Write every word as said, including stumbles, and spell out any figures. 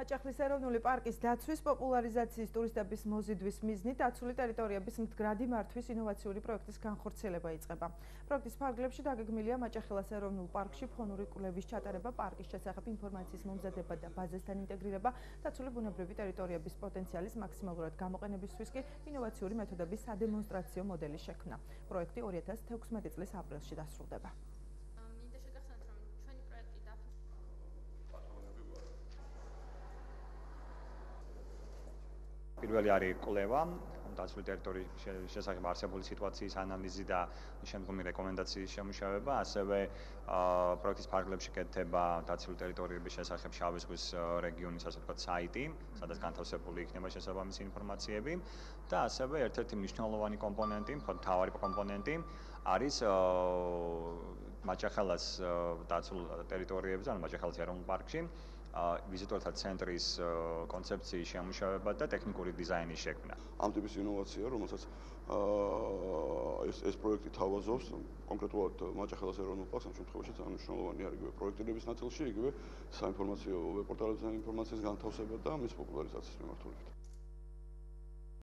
მაჭახლის ეროვნული პარკის დაცვის, პოპულარიზაციის, ტურისტების მოზიდვის მიზნით დაცული ტერიტორიების მდგრადი მართვის ინოვაციური პროექტის განხორციელება იწყება. პროექტის ფარგლებში დაგეგმილია მაჭახელას ეროვნულ პარკში ფონური კვლევის ჩატარება, პარკის შესახებ ინფორმაციის მომზადება და ბაზასთან ინტეგრირება, დაცული ბუნებრივი ტერიტორიების პოტენციალის მაქსიმალურად გამოყენებისთვის კი ინოვაციური მეთოდების სადემონსტრაციო მოდელის შექმნა. პროექტი ორი ათას თექვსმეტი წლის აპრილში დასრულდება. პირველი არის კვლევა, დაცული ტერიტორიის შესახებ არსებული სიტუაციის ანალიზი და შემდგომი რეკომენდაციის შემუშავება, ასევე პროექტის ფარგლებში კეთდება დაცული ტერიტორიების შესახებ შავი ზღვის რეგიონის ასე ვთქვათ საიტი, სადაც განთავსებული იქნება შესაბამისი ინფორმაციები და ასევე ერთ-ერთი მნიშვნელოვანი კომპონენტი, მთავარი კომპონენტი არის მაჭახელას დაცულ ტერიტორიებზე, ანუ მაჭახელის ეროვნულ პარკში ვიზიტორთა ცენტრის კონცეფციის შემუშავება და ტექნიკური დიზაინის შექმნა. ამ ტიპის ინოვაცია, რომელსაც ეს ეს პროექტი თავაზობს, კონკრეტულად მაჭახელის ეროვნულ პარკს ამ შემთხვევაში ძალიან მნიშვნელოვანი არის იგივე პროექტირების ნაწილში, იგივე საინფორმაციო ვებ პორტალებზე ინფორმაციის განთავსება და მის პოპულარიზაციის მიმართულებით.